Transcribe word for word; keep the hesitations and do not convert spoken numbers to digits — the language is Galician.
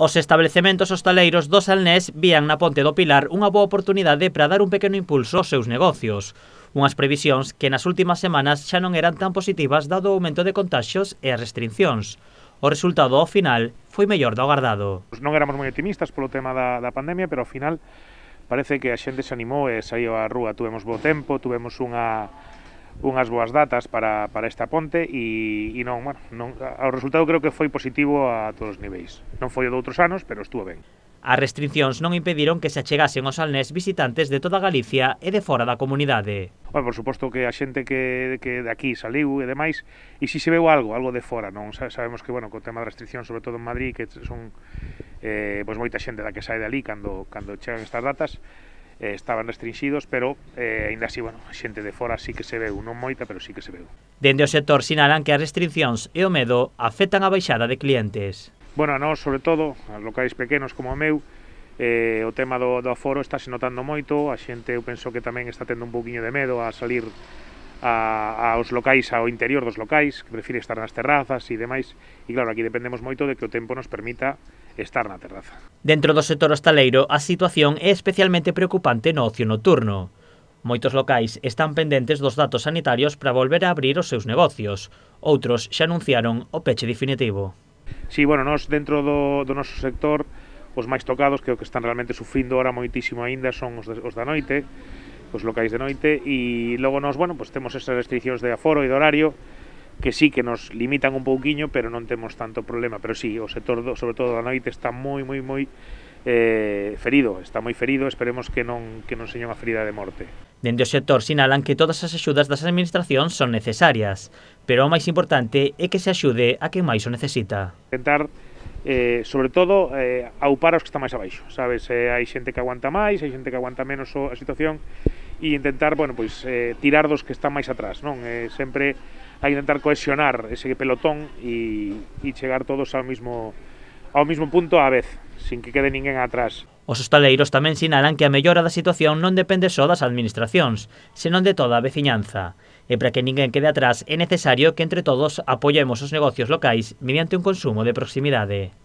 Os establecementos hostaleiros do Salnés vían na Ponte do Pilar unha boa oportunidade para dar un pequeno impulso aos seus negocios. Unhas previsións que nas últimas semanas xa non eran tan positivas dado o aumento de contaxios e as restriccións. O resultado ao final foi mellor do agardado. Non éramos moi optimistas polo tema da, da pandemia, pero ao final parece que a xente se animou e saiu á rúa. Tuvemos bo tempo, tuvemos unha unhas boas datas para, para esta ponte e, e non, bueno, non, o resultado creo que foi positivo a todos os niveis. Non foi o de outros anos, pero estuvo ben. As restriccións non impediron que se achegasen aos Salnés visitantes de toda Galicia e de fora da comunidade. Bueno, por suposto que a xente que, que de aquí saliu e demais, e si se veu algo, algo de fora, non sabemos que, bueno, co tema da restricción, sobre todo en Madrid, que son eh, pois moita xente da que sae de ali cando, cando chegan estas datas, eh, estaban restringidos, pero eh, ainda así, bueno, a xente de fora sí que se veu, non moita, pero sí que se veu. Dende o sector sinalan que as restriccións e o medo afectan a baixada de clientes. Bueno, a nós, sobre todo, a locais pequenos como o meu, eh, o tema do, do aforo está se notando moito, a xente eu penso que tamén está tendo un pouquiño de medo a salir a, aos locais, ao interior dos locais, que prefire estar nas terrazas e demais, e claro, aquí dependemos moito de que o tempo nos permita estar na terraza. Dentro do sector hostaleiro, a situación é especialmente preocupante no ocio nocturno. Moitos locais están pendentes dos datos sanitarios para volver a abrir os seus negocios. Outros xa anunciaron o peche definitivo. Sí, bueno, nós dentro do, do noso sector, os máis tocados, que o que están realmente sufrindo ahora moitísimo aínda son os, de, os da noite, os locais de noite, e logo nós, bueno, pues temos esas restriccións de aforo e de horario, que sí que nos limitan un pouquiño, pero non temos tanto problema. Pero sí, o sector, do, sobre todo da noite, está moi, moi, moi eh, ferido, está moi ferido, esperemos que non, que non seña unha ferida de morte. Dende o sector sinalan que todas as axudas das administracións son necesarias, pero o máis importante é que se axude a quen máis o necesita. Intentar, eh, sobre todo, eh, aupar aos que están máis abaixo, sabes? Eh, hai xente que aguanta máis, hai xente que aguanta menos a situación, e intentar, bueno, pois, eh, tirar dos que están máis atrás, non? Eh, sempre hai que intentar cohesionar ese pelotón e, e chegar todos ao mismo, ao mismo punto á vez, sin que quede ninguén atrás. Os hostaleiros tamén sinalan que a mellora da situación non depende só das administracións, senón de toda a veciñanza. E para que ninguén quede atrás é necesario que entre todos apoiemos os negocios locais mediante un consumo de proximidade.